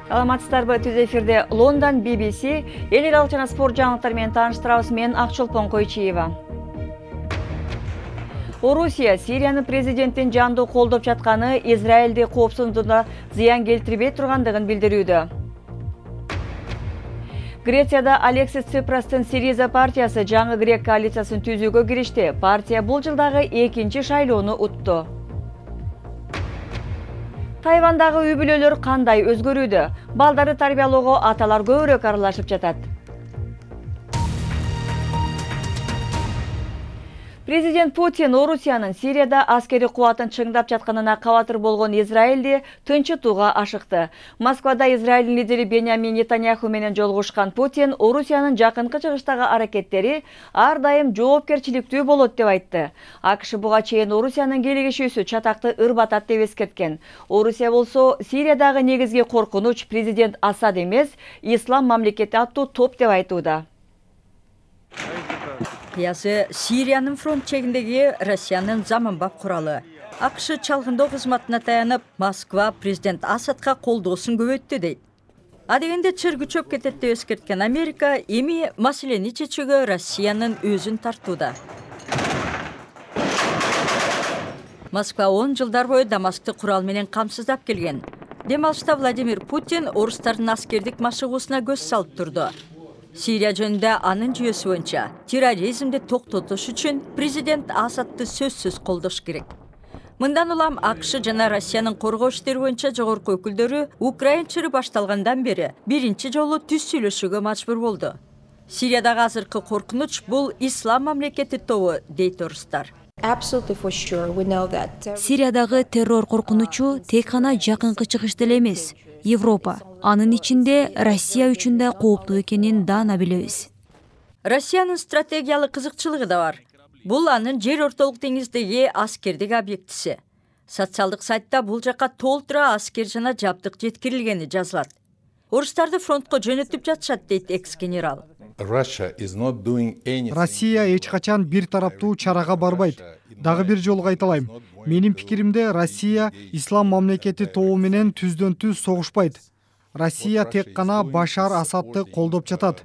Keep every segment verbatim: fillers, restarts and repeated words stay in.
Саламатсыздарбы, түз эфирде Лондон би би си эл аралык жана спорт жаңылыктары менен тааныштырабыз. Мен Акчолпон Койчиева. Орусия Сириянын президентин жандуу колдоп жатканы Израилди коопсуздугуна зыян келтирбей тургандыгын билдирүүдө. Грецияда Алексис Ципрастын Сириза партиясы жаңы грек коалициясын түзүүгө киришти. Партия бул жылдагы экинчи шайлоону утту. Тайвандагы үй бүлөлөр кандай өзгөрүүдө? Балдарды тарбиялоого аталар көбүрөөк аралашып жатат. Президент Путин Орусиянын Сирияда аскери кубатын чыңдап жатканына кабатыр болгон Израилди тынчытууга ашыкты. Москвада Израилдин лидери Беньямин Нетаньяху менен жолугушкан Путин Орусиянын жакынкы чыгыштагы аракеттери ар дайым жоопкерчиликтүү болот деп айтты. АКШ буга чейин Орусиянын келигишүүсү чатакты ырбатат деп эскерткен. Орусия болсо Сириядагы негизги коркунуч президент Асад эмес, ислам мамлекети аттуу топ деп айтууда. Кыясы Сириянын фронт чегиндеги Россиянын заманбап куралы. АКШ чалгындоо кызматына таянып, Москва президент Асадка колдоосун көбөйттү дейт. А дегенде чыр күчөп кетет деп эскерткен Америка эми маселени чечүүгө Россиянын өзүн тартууда. Москва он жылдар бою Дамаскты курал менен камсыздап келген. Дем алышта Владимир Путин орустардын аскердик машыгуусуна көз салып турду. Сирия жөнүндө анын жүйөсү боюнча терроризмди токтотуш үчүн президент Асадты сөзсүз колдош керек. Мындан улам АКШ жана Россиянын коргоо иштери боюнча жогорку өкүлдөрү Украин чыры башталгандан бери биринчи жолу түз сүйлөшүүгө мажбур болду. Сириядагы азыркы коркунуч бул ислам мамлекети тобу дейт орустар. Сириядагы террор коркунучу тек гана жакынкы чыгышта эле эмес, Европа, анын ичинде Россия үчүн да кооптуу экенин даана билебиз. Россиянын стратегиялык кызыкчылыгы да бар. Бул анын жер ортолук деңиздеги аскердик объектиси. Социалдык сайтта бул жака толтура аскер жана жабдык жеткирилгени жазылат. Орустарды фронтко жөнөтүп жатышат дейт экс-генерал. Россия эч качан бир тараптуу чарага барбайт. Дагы бир жолу кайталайм. Менин пикиримде Россия ислам мамлекети тобу менен түздөн түз согушпайт. Россия тек гана Башар Асадты колдоп жатат.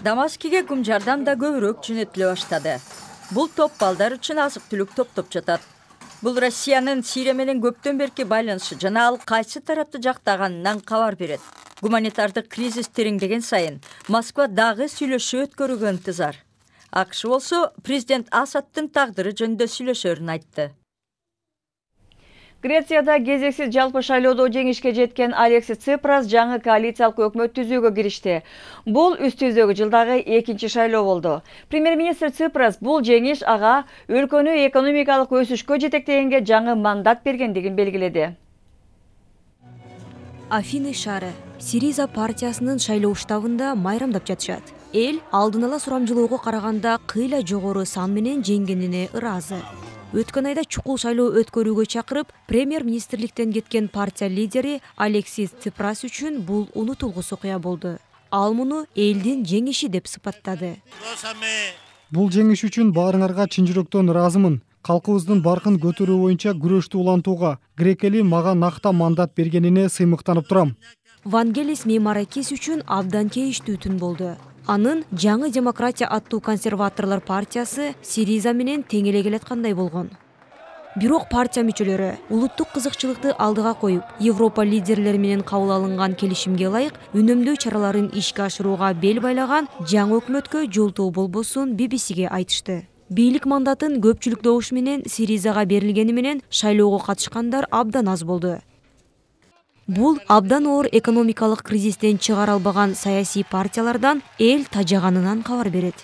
Дамаскиге гум жардам да көбүрөөк жөнөтүлө баштады. Бул топ балдар үчүн азык-түлүк топтоп жатат. Бул Россиянын Сирия менен көптөн берки байланышы жана ал кайсы тарапты жактаганынан кабар берет. Гуманитардык кризис тереңдеген сайын Москва дагы сүйлөшүү өткөрүүгө ынтызар. АКШ болсо президент Асадтын тагдыры жөнүндө сүйлөшөрүн айтты. Грецияда кезексиз жалпы шайлоодо жеңишке жеткен Алексис Ципрас жаңы коалициялык өкмөт түзүүгө киришти. Бул үстү үздөгү жылдагы экинчи шайлоо болду. Премьер-министр Ципрас бул жеңиш ага өлкөнү экономикалык өсүшкө жетектегенге жаңы мандат бергендигин белгиледи. Афины шаары Сириза партиясынын шайлоо штабында майрамдап жатышат. Эл алдын ала сурамжылоого караганда кыйла жогору сан менен жеңгенине ыраазы. Өткөн айда чукул шайлоо өткөрүүгө чакырып, премьер-министрликтен кеткен партия лидери Алексис Ципрас үчүн бул унутулгус окуя болду. Ал муну элдин жеңиши деп сыпаттады. Бул жеңиш үчүн баарыңарга чын жүрөктөн ыраазымын. Калкыбыздын баркын көтөрүү боюнча күрөштү улантууга грек эли мага накта мандат бергенине сыймыктанып турам. Вангелис Меймаракис үчүн абдан кейиштүү түн болду. Анын жаңы демократия аттуу консерваторлор партиясы Сириза менен тең эле келаткандай болгон. Бирок партия мүчөлөрү улуттук кызыкчылыкты алдыга коюп, Европа лидерлери менен кабыл алынган келишимге ылайык үнөмдүү чараларын ишке ашырууга бел байлаган жаңы өкмөткө жолтоо болбосун би би сиге айтышты. Бийлик мандатын көпчүлүк добуш менен Сиризага берилгени менен шайлоого катышкандар абдан аз болду. Бул абдан оор экономикалык кризистен чыгара албаган саясий партиялардан эл тажаганынан кабар берет.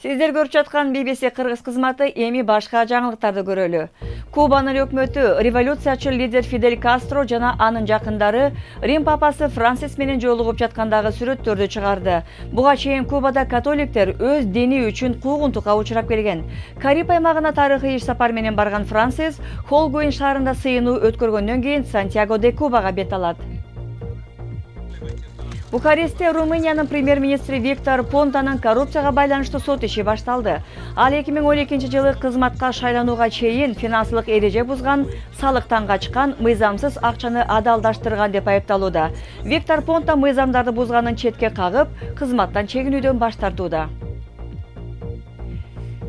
Сиздер көрүп жаткан би би си кыргыз кызматы эми башка жаңылыктарды көрөлү. Кубанын өкмөтү революциячыл лидер Фидель Кастро жана анын жакындары Рим папасы Франсис менен жолугуп жаткандагы сүрөттөрдү чыгарды. Буга чейин Кубада католиктер өз дини үчүн куугунтукка учурап келген. Кариб аймагына тарыхый иш сапар менен барган Франсис Холгуин шаарында сыйынуу өткөргөндөн кийин Сантьяго де Кубага бет алат. Бухарестте Румыниянын премьер-министри Виктор Понтанын коррупцияга байланыштуу сот иши башталды. Ал эки миң он экинчи жылы кызматка шайланууга чейин финансылык эреже бузган, салыктан качкан, мыйзамсыз акчаны адалдаштырган деп айыпталууда. Виктор Понта мыйзамдарды бузганын четке кагып, кызматтан чегинүүдөн баш тартууда.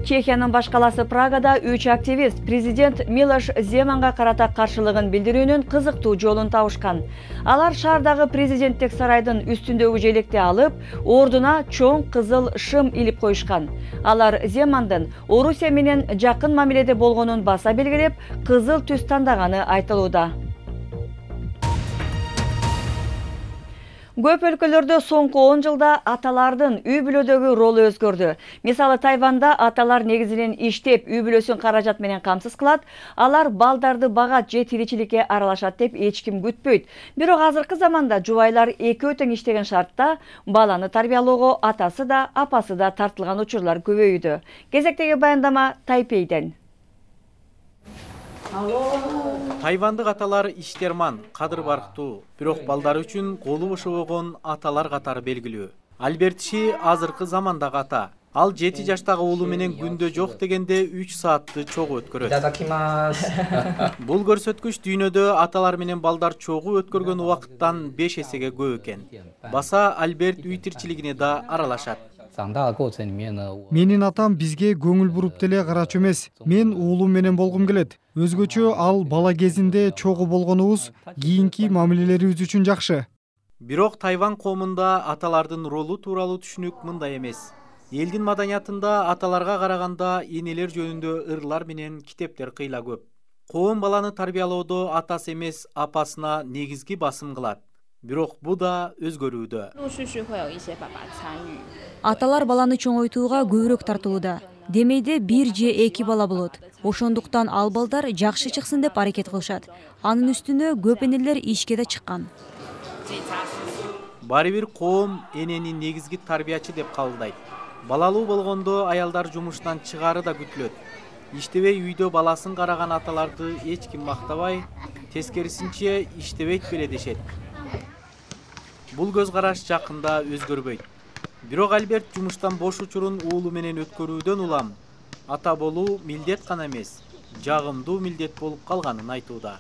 Чехиянын баш каласы Прагада үч активист президент Милош Земанга карата каршылыгын билдирүүнүн кызыктуу жолун табышкан. Алар шаардагы президенттик сарайдын үстүндөгү желекти алып, ордуна чоң кызыл шым илип коюшкан. Алар Земандын Орусия менен жакын мамиледе болгонун баса белгилеп, кызыл түс тандаганы айтылууда. Көп өлкөлөрдө соңку он жылда аталардын үй бүлөдөгү ролу өзгөрдү. Мисалы Тайванда аталар негизинен иштеп, үй бүлөсүн каражат менен камсыз кылат, алар балдарды багат же тиричиликке аралашат деп эч ким күтпөйт. Бирок азыркы заманда жубайлар экөө тең иштеген шартта баланы тарбиялоого атасы да, апасы да тартылган учурлар көбөйдү. Кезектеги баяндама Тайпейден. Тайвандык аталар иштерман, кадыр барктуу, бирок балдар үчүн колу бошобогон аталар катары белгилүү. Альберт Ши азыркы замандагы ата. Ал жети жаштагы уулу менен күндө жок дегенде үч саатты чогуу өткөрөт. Бул көрсөткүч дүйнөдө аталар менен балдар чогуу өткөргөн убакыттан беш эсеге көп экен. Баса Альберт үй тирчилигине да аралашат. Менин атам бизге көңүл буруп деле карачу эмес. Мен уулум менен болгум келет. Өзгөчө ал бала кезинде чогуу болгонубуз кийинки мамилелерибиз үчүн жакшы. Бирок Тайван коомунда аталардын ролу тууралуу түшүнүк мындай эмес. Элдин маданиятында аталарга караганда энелер жөнүндө ырлар менен китептер кыйла көп. Коом баланы тарбиялоодо атасы эмес, апасына негизги басым кылат. Бирок бу да өзгөрүүдө. Аталар баланы чоңойтууга көбүрөөк тартылууда. Демейде бир же эки бала болот. Ошондуктан ал балдар жакшы чыксын деп аракет кылышат. Анын үстүнө көп энелер ишке да чыккан. Баары бир коом энени негизги тарбиячы деп кабылдайт. Балалуу болгондо аялдар жумуштан чыгаары да күтүлөт. Иштебей үйдө баласын караган аталарды эч ким мактабай, тескерисинче иштебейт беле дешет. Бул көз караш жакында өзгөрбөйт. Бирок Альберт жумуштан бош учурун уулу менен өткөрүүдөн улам ата болуу милдет гана эмес, жагымдуу милдет болуп калганын айтууда.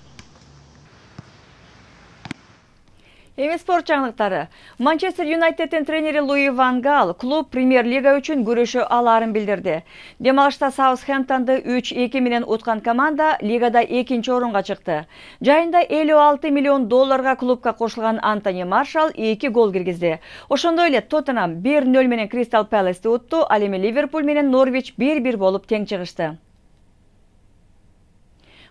Эми спорт жаңылыктары. Манчестер Юнайтеддин тренери Луи Ван Гал клуб премьер-лига үчүн күрөшө алаарын билдирди. Демалышта Саутгемптонду үч эки менен уткан команда лигада экинчи орунга чыкты. Жайында элүү алты миллион долларга клубка кошулган Антони Маршалл эки гол киргизди. Ошондой эле Тоттенхам бир нөл менен Кристал Пэласты утту, ал эми Ливерпуль менен Норвич бир бир болуп тең чыгышты.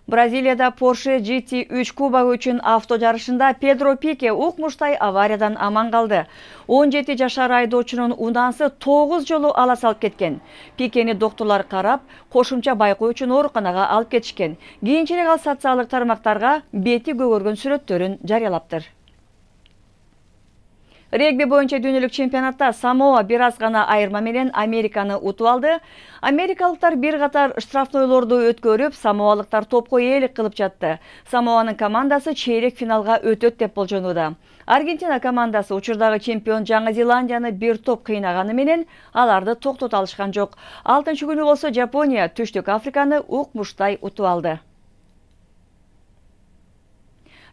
Бразилияда Porsche G T үч кубогу үчүн авто жарышында Педро Пике укмуштай авариядан аман калды. он жети жашар айдоочунун унаасы тогуз жолу ала салып кеткен. Пикени докторлор карап, кошумча байкоо үчүн ооруканага алып кетишкен. Кийинчерээк ал социалдык тармактарга бети көгөргөн сүрөттөрүн жарыялаптыр. Регби боюнча дүйнөлүк чемпионатта Самоа бир аз гана айырма менен Американы утуп алды. Америкалыктар бир катар штрафнойлорду өткөрүп, самоалыктар топко ээлик кылып жатты. Самоанын командасы чейрек финалга өтөт деп болжонууда. Аргентина командасы учурдагы чемпион Жаңы Зеландияны бир топ кыйнаганы менен аларды токтото алышкан жок. алтынчы күнү болсо Жапония Түштүк Африканы укмуштай утуп алды.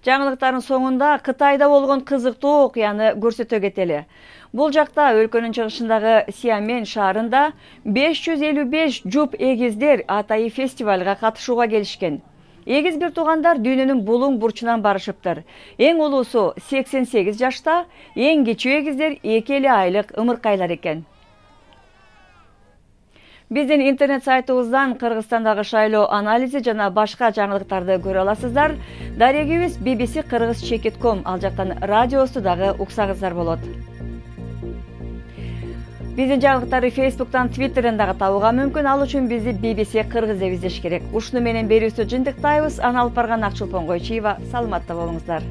Жаңылыктардын соңунда Кытайда болгон кызыктуу окуяны көрсөтө кетели. Бул жакта өлкөнүн чыгышындагы Сиамен шаарында беш жүз элүү беш жуп эгиздер атайы фестивалга катышууга келишкен. Эгиз бир туугандар дүйнөнүн булуң бурчунан барышыптыр. Эң улуусу сексен сегиз жашта, эң кичүү эгиздер эки эле айлык ымыркайлар экен. Биздин интернет сайтыбыздан Кыргызстандагы шайлоо анализи жана башка жаңылыктарды көрө аласыздар. Дарегибиз би би си кыргыз чекит точка ком, ал жактан радиосу дагы уксаңыздар болот. Биздин жаңылыктарды Facebook'тан, Twitter'дан дагы табууга мүмкүн. Ал үчүн бизди би би си кыргыз деп издеш керек. Ушуну менен берүүбүздү жыйынтыктайбыз. Аны алып барган Акчулпон Койчиева. Саламатта болуңуздар.